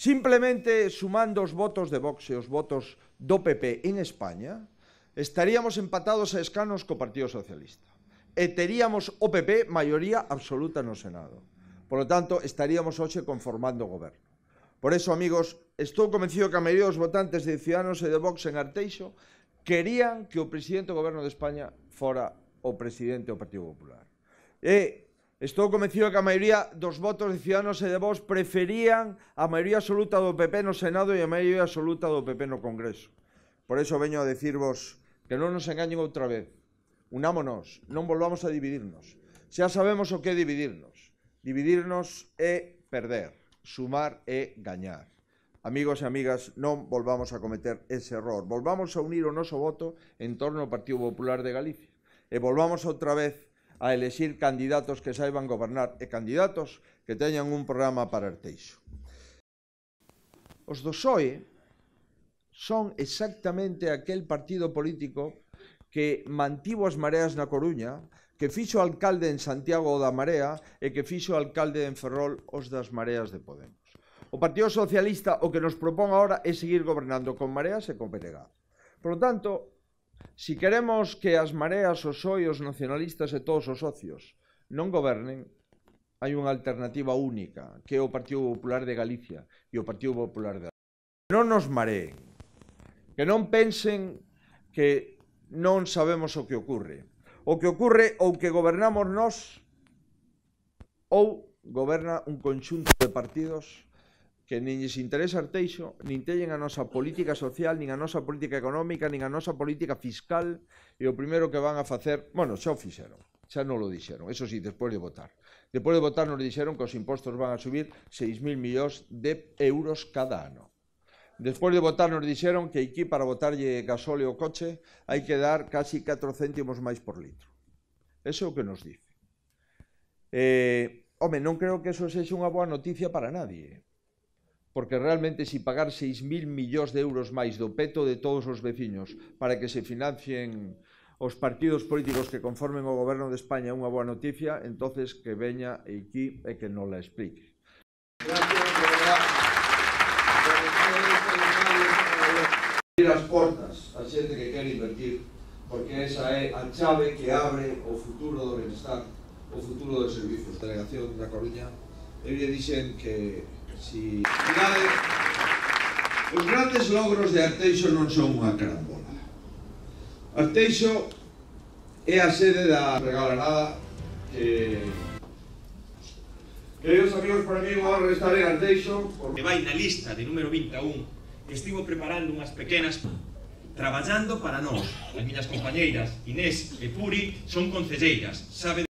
Simplemente sumando os votos de Vox e os votos do PP en España, estaríamos empatados a escanos co Partido Socialista. E teríamos o PP maioría absoluta no Senado. Por lo tanto, estaríamos hoxe conformando o goberno. Por eso, amigos, estou convencido que a maioría dos votantes de Ciudadanos e de Vox en Arteixo querían que o presidente do goberno de España fora o presidente do Partido Popular. Estou convencido que a maioría dos votos de Ciudadanos e de Vox preferían a maioría absoluta do PP no Senado e a maioría absoluta do PP no Congreso. Por eso veño a decirvos que non nos engañen outra vez. Unámonos, non volvamos a dividirnos. Xa sabemos o que é dividirnos. Dividirnos é perder, sumar é gañar. Amigos e amigas, non volvamos a cometer ese error. Volvamos a unir o noso voto en torno ao Partido Popular de Galicia. E volvamos outra vez a elexir candidatos que saiban gobernar e candidatos que teñan un programa para Arteixo. Os do PSOE son exactamente aquel partido político que mantivo as mareas na Coruña, que fixo alcalde en Santiago da Marea e que fixo alcalde en Ferrol os das mareas de Podemos. O Partido Socialista o que nos propón agora é seguir gobernando con mareas e con PNG. Por lo tanto, si queremos que as mareas, os PSOE, os nacionalistas e todos os socios non gobernen, hai unha alternativa única, que é o Partido Popular de Galicia e o Partido Popular de Galicia. Que non nos mareen, que non pensen que non sabemos o que ocorre. O que ocorre ou que gobernamos nós ou goberna un conxunto de partidos que nin lles interesa Arteixo, nin teñen a nosa política social, nin a nosa política económica, nin a nosa política fiscal, e o primeiro que van a facer, bueno, xa o fixeron, xa non lo dixeron, eso sí, despois de votar. Despois de votar nos dixeron que os impostos van a subir 6.000 millóns de euros cada ano. Despois de votar nos dixeron que aquí para botarlle gasóleo ao coche hai que dar casi 4 céntimos máis por litro. Eso é o que nos dice. Home, non creo que eso sexa unha boa noticia para nadie. Porque realmente si pagar 6.000 millóns de euros máis do peto de todos os veciños para que se financien os partidos políticos que conformen o goberno de España é unha boa noticia, entonces que veña aquí e que nos la explique. Abrir as portas a xente que quere invertir, porque esa é a chave que abre o futuro do benestar, o futuro dos servizos. A delegación da Coruña, eu lle dixen que si os grandes logros de Arteixo non son unha carambola. Arteixo é a sede da regalarada que queridos amigos, para mí vou restar en Arteixo que vai na lista de número 21. Estivo preparando unhas pequenas traballando para nós. As miñas compañeiras Inés e Puri son concelleiras, sabe